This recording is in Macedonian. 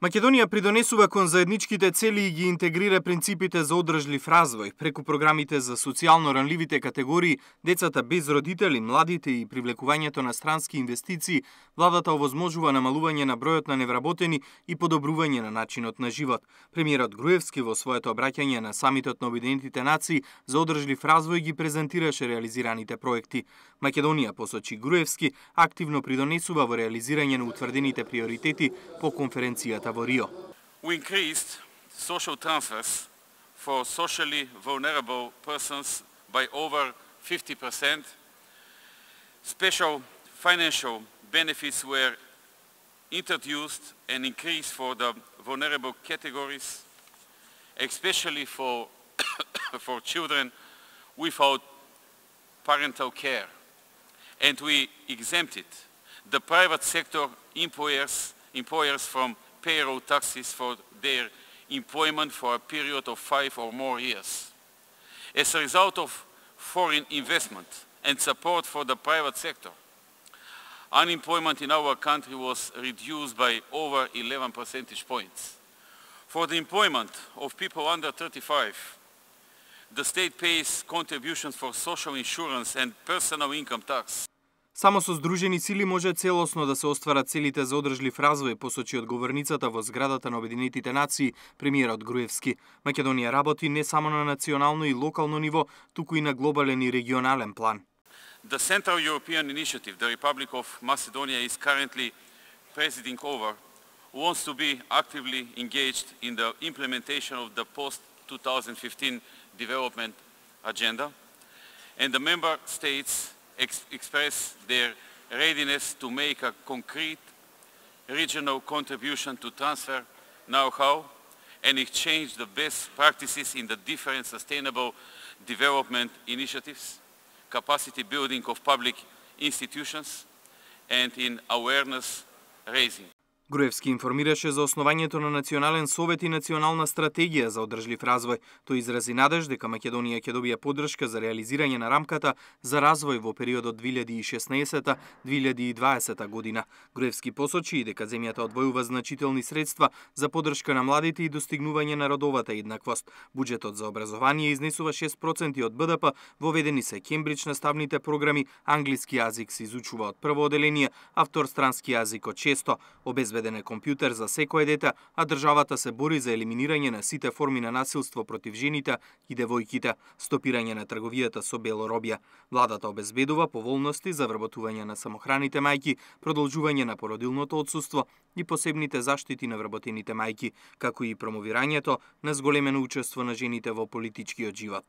Македонија придонесува кон заедничките цели и ги интегрира принципите за одржлив развој преку програмите за социјално ранливите категории, децата без родители, младите и привлекувањето на странски инвестиции. Владата овозможува намалување на бројот на невработени и подобрување на начинот на живот. Премиерот Груевски во своето обраќање на самитот на Обединетите нации за одржлив развој ги презентираше реализираните проекти. Македонија, посочи Груевски, активно придонесува во реализирање на утврдените приоритети по конференцијата во Рио. We increased social transfers for socially vulnerable persons by over 50%. Special financial benefits were introduced and increased for the vulnerable categories, especially for for children without parental care. And we exempted the private sector employers from payroll taxes for their employment for a period of 5 or more years. As a result of foreign investment and support for the private sector, unemployment in our country was reduced by over 11 percentage points. For the employment of people under 35, the state pays contributions for social insurance and personal income tax. Само со здружени сили може целосно да се остварат целите за одржлив развој, посочи одговорницата во зградата на Обединетите нации, премиерот Груевски. Македонија работи не само на национално и локално ниво, туку и на глобален и регионален план. The Central European Initiative, the Republic of Macedonia is currently presiding over, wants to be actively engaged in the implementation of the post-2015 development agenda, and the member states express their readiness to make a concrete regional contribution to transfer know-how and exchange the best practices in the different sustainable development initiatives, capacity building of public institutions, and in awareness raising. Груевски информираше за основањето на Национален совет и Национална стратегија за одржлив развој. Тој изрази надеж дека Македонија ќе добие поддршка за реализирање на рамката за развој во периодот 2016-2020 година. Груевски посочи и дека земјата одвојува значителни средства за поддршка на младите и достигнување на родовата еднаквост. Буџетот за образование изнесува 6% од БДП, воведени се Кембридж наставните програми, англиски јазик се изучува од прво оделение, а вторстрански јазик од 6, обезбеден е компјутер за секое дете, а државата се бори за елиминирање на сите форми на насилство против жените и девојките, стопирање на трговијата со бело робје. Владата обезбедува поволности за вработување на самохраните мајки, продолжување на породилното отсуство и посебните заштити на вработените мајки, како и промовирањето на зголемено учество на жените во политичкиот живот.